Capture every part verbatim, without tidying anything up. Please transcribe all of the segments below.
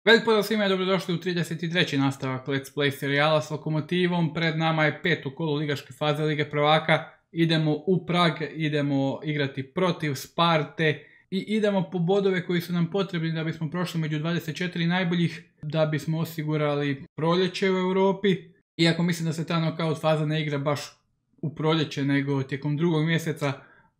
Velik pozdrav svima i dobrodošli u trideset treći nastavak Let's Play serijala s Lokomotivom. Pred nama je peto kolo ligaške faze Lige prvaka. Idemo u Prag, idemo igrati protiv Sparte i idemo po bodove koji su nam potrebni da bismo prošli među dvadeset četiri najboljih, da bismo osigurali proljeće u Europi. Iako mislim da se ta knockout faza ne igra baš u proljeće nego tijekom drugog mjeseca,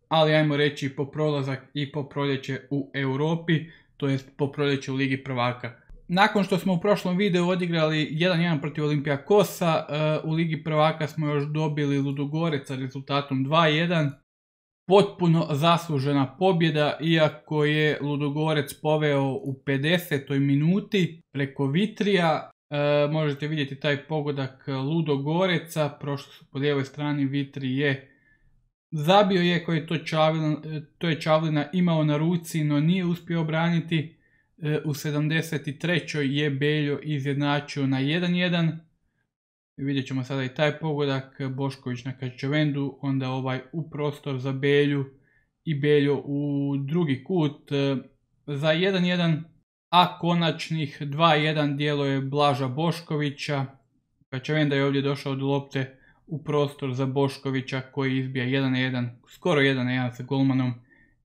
ali ajmo reći po prolazak i po proljeće u Europi, to jest po proljeće u Ligi prvaka. Nakon što smo u prošlom videu odigrali jedan jedan protiv Olympiakosa, u Ligi prvaka smo još dobili Ludogorec sa rezultatom dva jedan. Potpuno zaslužena pobjeda, iako je Ludogorec poveo u pedesetoj minuti preko Vitrija. E, možete vidjeti taj pogodak Ludogoreca, prošli su po lijevoj strani, Vitri je zabio, iako je to Čavlina, to je Čavlina imao na ruci, no nije uspio obraniti. U sedamdeset trećoj je Beljo izjednačio na jedan jedan. Vidjet ćemo sada i taj pogodak, Bošković na Kačavendu, onda ovaj u prostor za Belju i Beljo u drugi kut za jedan jedan, a konačnih dva jedan djelo je Blaža Boškovića. Kačavenda je ovdje došao do lopte u prostor za Boškovića koji izbija jedan jedan, skoro jedan jedan sa golmanom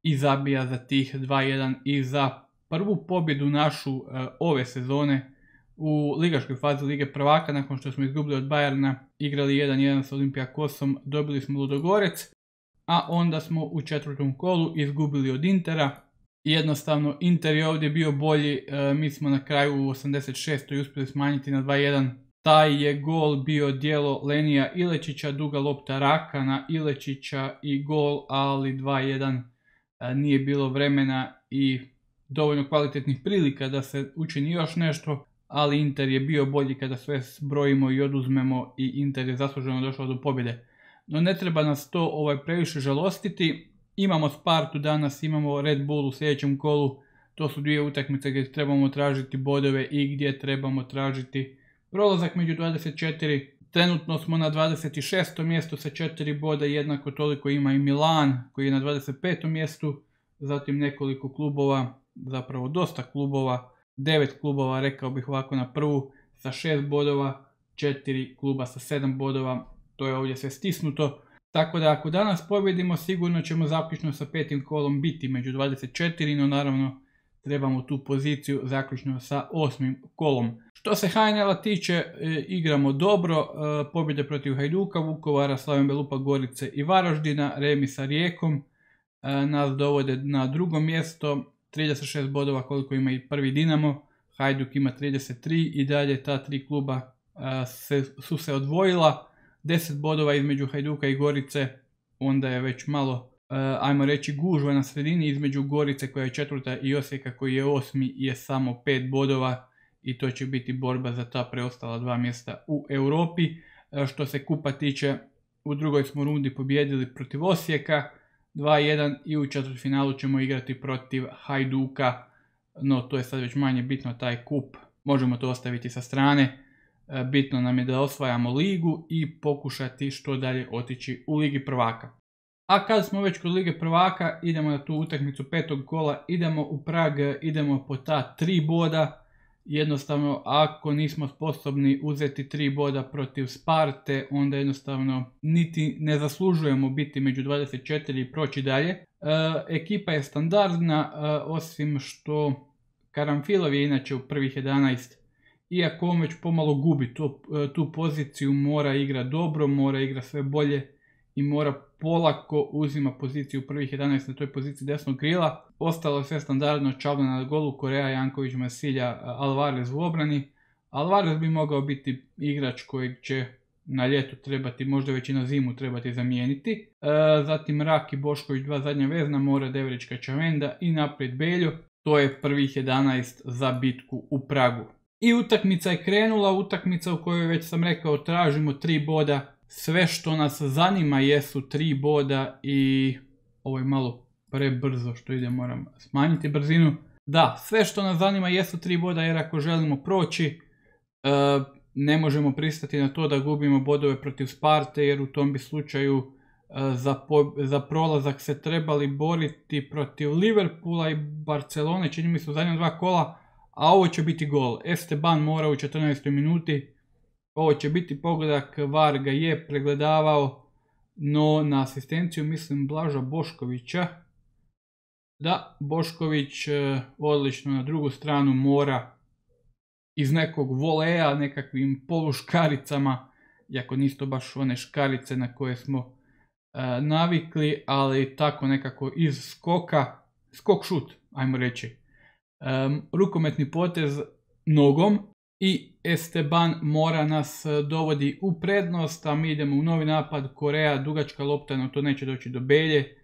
i zabija za tih dva jedan i za prvu pobjedu našu uh, ove sezone u ligaškoj fazi Lige prvaka. Nakon što smo izgubili od Bayerna, igrali jedan jedan s Olympiakosom, dobili smo Ludogorec, a onda smo u četvrtom kolu izgubili od Intera. Jednostavno Inter je ovdje bio bolji, uh, mi smo na kraju u osamdeset šestoj uspjeli smanjiti na dva jedan. Taj je gol bio djelo Lenija Ilečića, duga lopta Raka na Ilečića i gol, ali dva jedan uh, nije bilo vremena i dovoljno kvalitetnih prilika da se učini još nešto, ali Inter je bio bolji kada sve zbrojimo i oduzmemo i Inter je zasluženo došao do pobjede. No ne treba nas to ovaj previše žalostiti, imamo Spartu danas, imamo Red Bull u sljedećem kolu, to su dvije utakmice gdje trebamo tražiti bodove i gdje trebamo tražiti prolazak među dvadeset četiri. Trenutno smo na dvadeset šestom mjestu sa četiri boda, jednako toliko ima i Milan koji je na dvadeset petom mjestu, zatim nekoliko klubova, zapravo dosta klubova, devet klubova rekao bih ovako na prvu sa šest bodova, četiri kluba sa sedam bodova, to je ovdje sve stisnuto. Tako da ako danas pobjedimo sigurno ćemo zaključno sa petim kolom biti među dvadeset četiri, no naravno trebamo tu poziciju zaključno sa osmim kolom. Što se H N L-a tiče, e, igramo dobro, e, pobjede protiv Hajduka, Vukovara, Slaven Belupa, Gorice i Varaždina, remi sa Rijekom, e, nas dovode na drugo mjesto, trideset šest bodova koliko ima i prvi Dinamo, Hajduk ima trideset tri i dalje ta tri kluba a, se, su se odvojila, deset bodova između Hajduka i Gorice, onda je već malo, a, ajmo reći, gužva na sredini između Gorice koja je četvrta i Osijeka koji je osmi je samo pet bodova i to će biti borba za ta preostala dva mjesta u Europi. A, što se kupa tiče, u drugoj smo rundi pobijedili protiv Osijeka dva jedan i u četvrtfinalu ćemo igrati protiv Hajduka, no to je sad već manje bitno, taj kup možemo to ostaviti sa strane. Bitno nam je da osvajamo ligu i pokušati što dalje otići u Ligi prvaka. A kad smo već kod Lige prvaka, idemo na tu utakmicu petog kola, idemo u Prag, idemo po ta tri boda. Jednostavno ako nismo sposobni uzeti tri boda protiv Sparte, onda jednostavno niti ne zaslužujemo biti među dvadeset četiri i proći dalje. E, ekipa je standardna, e, osim što Karamfilov je inače u prvih jedanaest, iako on već pomalo gubi tu, e, tu poziciju, mora igra dobro, mora igra sve bolje i mora polako uzima poziciju u prvih jedanaest na toj poziciji desnog krila. Ostalo je sve standardno, Čavlina na golu, Korea, Janković, Masilja, Alvarez u obrani. Alvarez bi mogao biti igrač kojeg će na ljetu trebati, možda već i na zimu trebati zamijeniti. E, zatim Rak i Bošković, dva zadnja vezna, Mora, Deverić, Kačavenda i naprijed Beljo. To je prvih jedanaest za bitku u Pragu. I utakmica je krenula, utakmica u kojoj već sam rekao tražimo tri boda. Sve što nas zanima jesu tri boda i ovo je malo prebrzo što ide, moram smanjiti brzinu. Da, sve što nas zanima jesu tri boda jer ako želimo proći, e, ne možemo pristati na to da gubimo bodove protiv Sparte jer u tom bi slučaju e, za, po, za prolazak se trebali boriti protiv Liverpoola i Barcelone, čini mi se u zadnja dva kola, a ovo će biti gol. Esteban Mora u četrnaestoj minuti. Ovo će biti pogodak, V A R ga je pregledavao, no na asistenciju mislim Blaža Boškovića. Da, Bošković odlično na drugu stranu Mora iz nekog voleja, nekakvim poluškaricama, iako nisu to baš one škarice na koje smo e, navikli, ali tako nekako iz skoka, skok šut, ajmo reći. E, rukometni potez nogom i Esteban Mora nas dovodi u prednost, a mi idemo u novi napad. Korea, dugačka lopta, no to neće doći do Belje.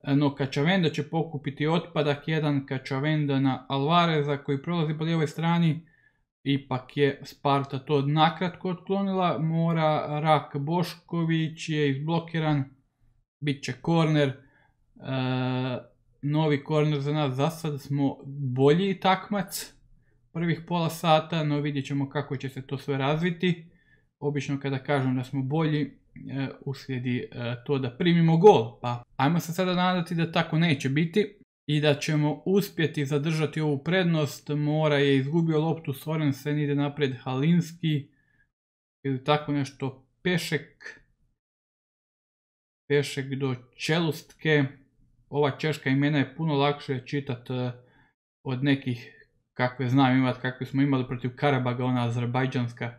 No Kačavenda će pokupiti otpadak, jedan Kačavenda na Alvareza koji prolazi po lijevoj strani. Ipak je Sparta to nakratko otklonila. Mora, Rak, Bošković je izblokiran. Biće korner. E, novi korner za nas. Za sad smo bolji takmac prvih pola sata, no vidjet ćemo kako će se to sve razviti. Obično kada kažem da smo bolji, uslijedi to da primimo gol. Pa ajmo se sada nadati da tako neće biti i da ćemo uspjeti zadržati ovu prednost. Mora je izgubio loptu, Sorensen ide naprijed, Halinski ili tako nešto, Pešek Pešek do Čelustke. Ova češka imena je puno lakše čitati od nekih kakve znam imati, kakve smo imali protiv Karabaga, ona azerbajdžanska.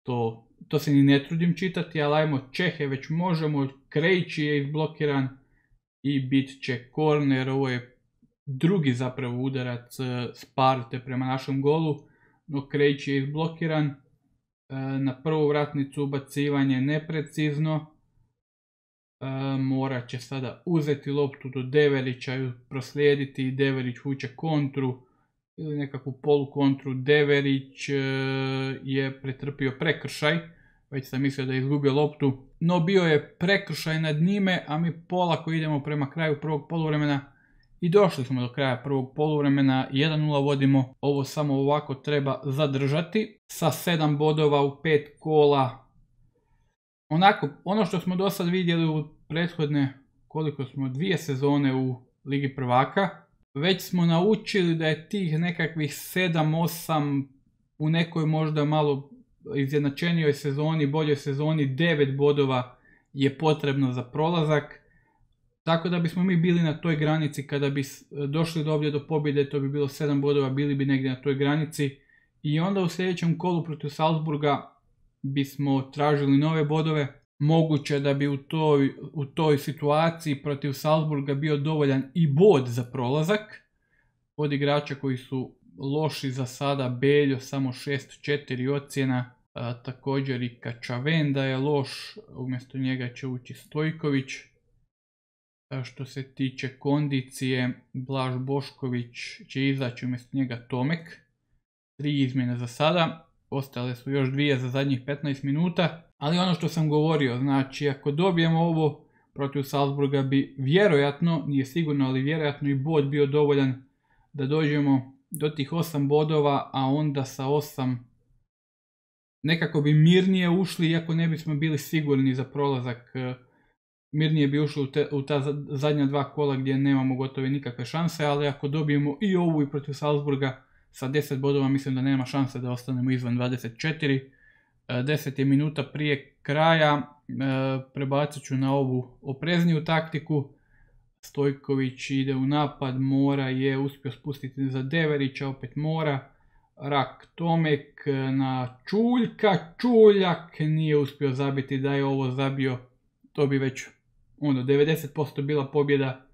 To, to se ni ne trudim čitati, ali ajmo Čehe već možemo. Krejči je izblokiran i bit će korner. Ovo je drugi zapravo udarac Sparte prema našem golu, no Krejči je izblokiran. Na prvu vratnicu ubacivanje neprecizno. Mora će sada uzeti loptu do Deverića i proslijediti. Deverić vuče kontru ili nekakvu polukontru. Deverić je pretrpio prekršaj, već sam mislio da je izgubio loptu, no bio je prekršaj nad njime, a mi polako idemo prema kraju prvog poluvremena i došli smo do kraja prvog poluvremena. jedan nula vodimo, ovo samo ovako treba zadržati sa sedam bodova u pet kola. Onako, ono što smo do sad vidjeli u prethodne, koliko smo, dvije sezone u Ligi prvaka, već smo naučili da je tih nekakvih sedam osam u nekoj možda malo izjednačenijoj sezoni, boljoj sezoni, devet bodova je potrebno za prolazak. Tako da bismo mi bili na toj granici, kada bi došli do ovdje do pobjede, to bi bilo sedam bodova, bili bi negdje na toj granici. I onda u sljedećem kolu protiv Salzburga bismo tražili nove bodove. Moguće da bi u toj, u toj situaciji protiv Salzburga bio dovoljan i bod za prolazak. Od igrača koji su loši za sada, Beljo samo šest četiri ocjena, a, također i Kačavenda je loš, umjesto njega će ući Stojković. A što se tiče kondicije, Blaž Bošković će izaći umjesto njega Tomek. Tri izmjene za sada, ostale su još dvije za zadnjih petnaest minuta. Ali ono što sam govorio, znači ako dobijemo ovo protiv Salzburga bi vjerojatno, nije sigurno, ali vjerojatno i bod bio dovoljan da dođemo do tih osam bodova, a onda sa osam nekako bi mirnije ušli, iako ne bismo bili sigurni za prolazak. Mirnije bi ušli u, te, u ta zadnja dva kola gdje nemamo gotovo nikakve šanse, ali ako dobijemo i ovu i protiv Salzburga sa deset bodova, mislim da nema šanse da ostanemo izvan dvadeset četiri. deset je minuta prije kraja, prebacit ću na ovu oprezniju taktiku. Stojković ide u napad, Mora je uspio spustiti za Deverića, opet Mora. Rak, Tomek na Čuljka, Čuljak nije uspio zabiti. Da je ovo zabio, to bi već ono devedeset posto bila pobjeda.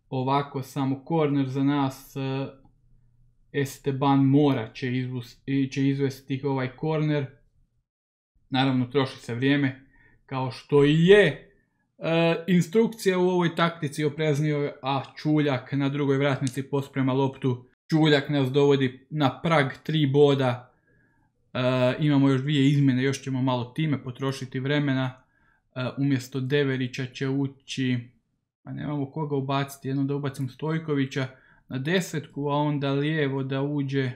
Ovako samo korner za nas. Esteban Mora će, izvus, će izvesti ovaj korner. Naravno troši se vrijeme, kao što i je e, instrukcija u ovoj taktici opreznio, a Čuljak na drugoj vratnici posprema loptu. Čuljak nas dovodi na prag tri boda. E, imamo još dvije izmjene, još ćemo malo time potrošiti vremena. E, umjesto Deverića će ući, a nemamo koga ubaciti, jedno da ubacim Stojkovića na desetku, a onda lijevo da uđe e,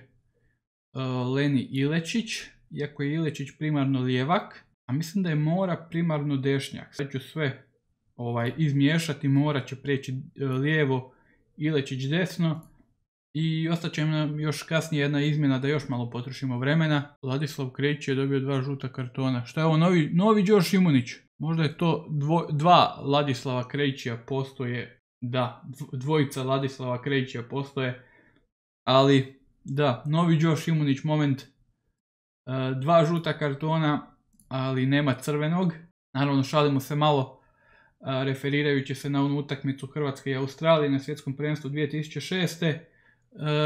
Leni Ilečić. Iako je Ilečić primarno lijevak, a mislim da je Mora primarno dešnjak. Sad ću sve ovaj, izmiješati, Mora će preći lijevo, Ilečić desno I ostaće nam još kasnije jedna izmjena da još malo potrošimo vremena. Ladislav Krejić je dobio dva žuta kartona. Šta je ovo, novi, novi Đoš Šimunić? Možda je to dvo, dva Ladislava Krejića postoje. Da, dvojica Ladislava Krejića postoje. Ali, da, novi Đoš Šimunić moment. Dva žuta kartona, ali nema crvenog. Naravno, šalimo se malo, referirajući se na onu utakmicu Hrvatske i Australije na svjetskom prvenstvu dvije tisuće šeste.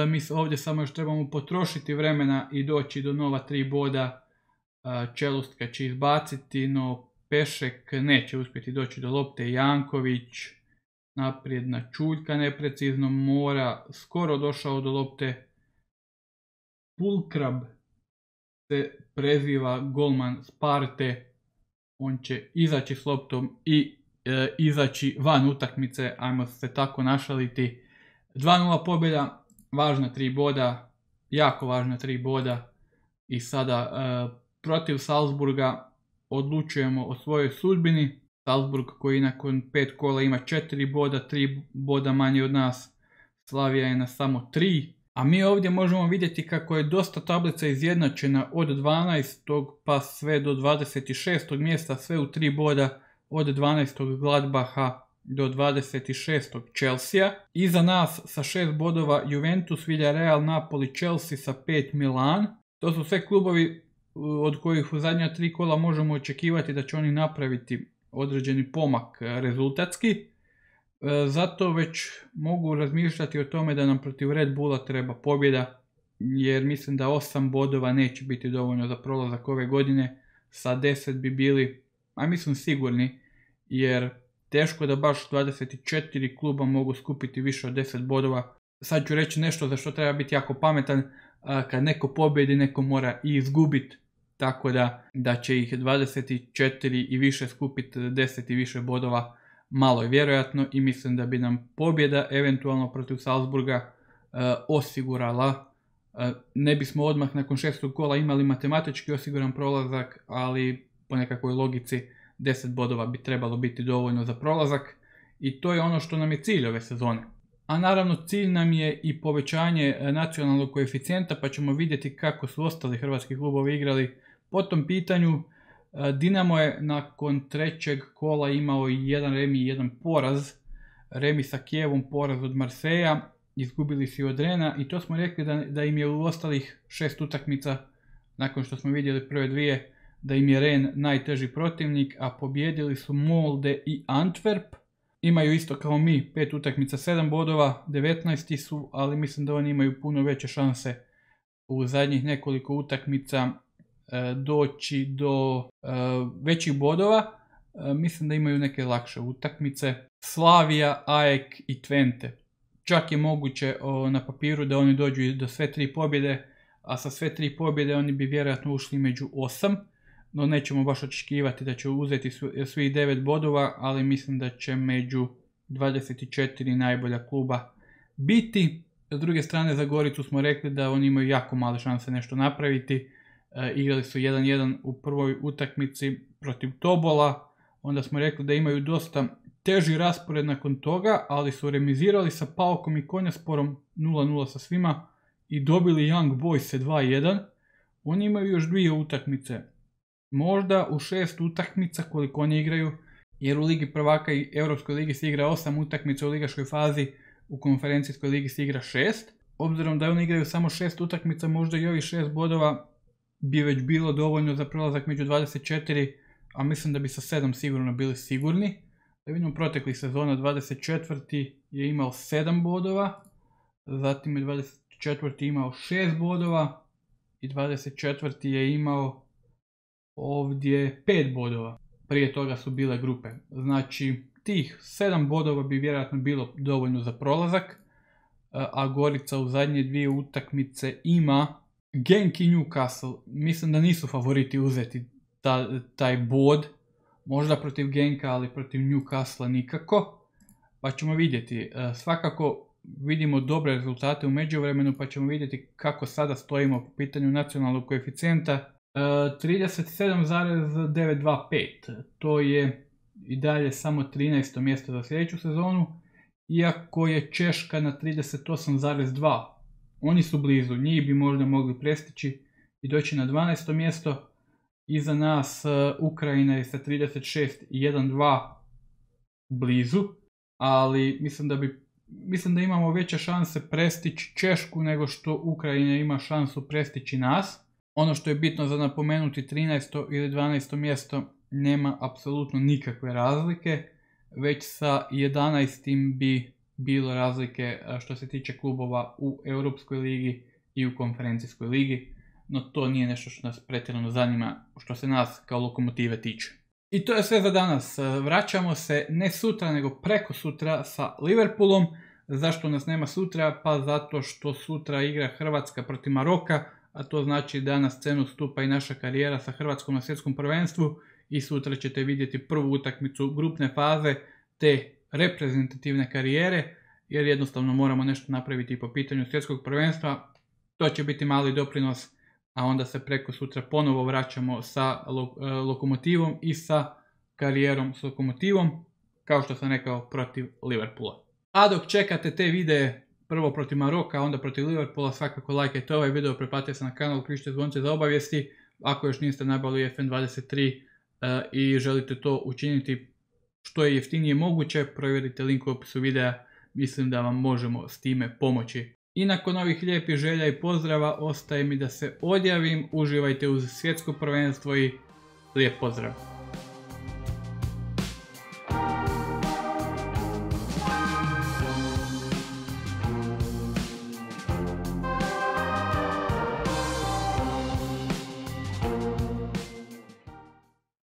Mi ovdje samo još trebamo potrošiti vremena i doći do nova tri boda. Čelustka će izbaciti, no Pešek neće uspjeti doći do lopte. Janković naprijed na Čuljka neprecizno, Mora skoro došao do lopte. Pulkrab se preziva golman Sparte, on će izaći s loptom i e, izaći van utakmice, ajmo se tako našaliti. dva nula pobjeda, važna tri boda, jako važna tri boda i sada e, protiv Salzburga odlučujemo o svojoj sudbini. Salzburg koji nakon pet kola ima četiri boda, tri boda manje od nas, Slavija je na samo tri. A mi ovdje možemo vidjeti kako je dosta tablica izjednačena od dvanaestog pa sve do dvadeset šestog mjesta, sve u tri boda, od dvanaestog Gladbaha do dvadeset šestog Chelsea. Iza nas sa šest bodova Juventus, Villarreal, Napoli, Chelsea sa pet Milan. To su sve klubovi od kojih u zadnja tri kola možemo očekivati da će oni napraviti određeni pomak rezultatski. Zato već mogu razmišljati o tome da nam protiv Red Bulla treba pobjeda, jer mislim da osam bodova neće biti dovoljno za prolazak ove godine. Sa deset bi bili, a mislim sigurni, jer teško da baš dvadeset četiri kluba mogu skupiti više od deset bodova. Sad ću reći nešto za što treba biti jako pametan, kad neko pobjedi, neko mora i izgubiti, tako da, da će ih dvadeset četiri i više skupiti deset i više bodova. Malo je vjerojatno i mislim da bi nam pobjeda eventualno protiv Salzburga e, osigurala. E, ne bismo odmah nakon šestog kola imali matematički osiguran prolazak, ali po nekakvoj logici deset bodova bi trebalo biti dovoljno za prolazak i to je ono što nam je cilj ove sezone. A naravno cilj nam je i povećanje nacionalnog koeficijenta, pa ćemo vidjeti kako su ostali hrvatski klubovi igrali po tom pitanju. Dinamo je nakon trećeg kola imao jedan remi i jedan poraz. Remi sa Kijevom, poraz od Marseja, izgubili su od Rena i to smo rekli da, da im je u ostalih šest utakmica, nakon što smo vidjeli prve dvije, da im je Ren najteži protivnik, a pobjedili su Molde i Antwerp. Imaju isto kao mi pet utakmica, sedam bodova, devetnaesti su, ali mislim da oni imaju puno veće šanse u zadnjih nekoliko utakmica doći do uh, većih bodova. Uh, mislim da imaju neke lakše utakmice. Slavija, A E K i Twente. Čak je moguće o, na papiru da oni dođu do sve tri pobjede, a sa sve tri pobjede oni bi vjerojatno ušli među osam, no nećemo baš očekivati da će uzeti svih devet bodova, ali mislim da će među dvadeset četiri najbolja kluba biti. S druge strane, za Goricu smo rekli da oni imaju jako male šanse nešto napraviti. E, igrali su jedan jedan u prvoj utakmici protiv Tobola, onda smo rekli da imaju dosta teži raspored nakon toga, ali su remizirali sa Paukom i Konjasporom nula nula sa svima i dobili Young Boys dva jedan. Oni imaju još dvije utakmice, možda u šest utakmica koliko oni igraju, jer u Ligi prvaka i Europskoj ligi se igra osam utakmica u ligaškoj fazi, u konferencijskoj ligi se igra šest. Obzirom da oni igraju samo šest utakmica, možda i ovih šest bodova bi već bilo dovoljno za prolazak među dvadeset četiri, a mislim da bi sa sedam sigurno bili sigurni. Da vidimo proteklih sezona, dvadeset četvrti je imao sedam bodova, zatim je dvadeset četvrti imao šest bodova i dvadeset četvrti je imao ovdje pet bodova. Prije toga su bile grupe. Znači tih sedam bodova bi vjerojatno bilo dovoljno za prolazak, a Gorica u zadnje dvije utakmice ima Genk i Newcastle. Mislim da nisu favoriti uzeti ta, taj bod, možda protiv Genka, ali protiv Newcastle nikako, pa ćemo vidjeti. Svakako vidimo dobre rezultate u međuvremenu, pa ćemo vidjeti kako sada stojimo po pitanju nacionalnog koeficijenta. trideset sedam zarez devetsto dvadeset pet, to je i dalje samo trinaesto mjesto za sljedeću sezonu, iako je Češka na trideset osam zarez dva, Oni su blizu, njih bi možda mogli prestići i doći na dvanaesto mjesto. Iza nas Ukrajina je sa trideset šest i jedan dva blizu, ali mislim da bi mislim da imamo veće šanse prestići Češku nego što Ukrajina ima šansu prestići nas. Ono što je bitno za napomenuti, trinaesto ili dvanaesto mjesto nema apsolutno nikakve razlike, već sa jedanaestim bi bilo razlike što se tiče klubova u Europskoj ligi i u Konferencijskoj ligi, no to nije nešto što nas pretjerano zanima što se nas kao Lokomotive tiče. I to je sve za danas. Vraćamo se ne sutra nego preko sutra sa Liverpoolom. Zašto nas nema sutra? Pa zato što sutra igra Hrvatska protiv Maroka, a to znači da na scenu stupa i naša karijera sa Hrvatskom na svjetskom prvenstvu i sutra ćete vidjeti prvu utakmicu grupne faze te reprezentativne karijere, jer jednostavno moramo nešto napraviti po pitanju svjetskog prvenstva. To će biti mali doprinos, a onda se preko sutra ponovo vraćamo sa Lokomotivom i sa karijerom s Lokomotivom, kao što sam rekao, protiv Liverpoola. A dok čekate te videe, prvo protiv Maroka, onda protiv Liverpoola, svakako lajkajte ovaj video, pretplatite se na kanal, uključite zvonce za obavijesti. Ako još niste nabavili F N dvadeset tri uh, i želite to učiniti što je jeftinije moguće, provjerite link u opisu videa, mislim da vam možemo s time pomoći. I nakon ovih lijepih želja i pozdrava ostaje mi da se odjavim, uživajte uz svjetsko prvenstvo i lijep pozdrav!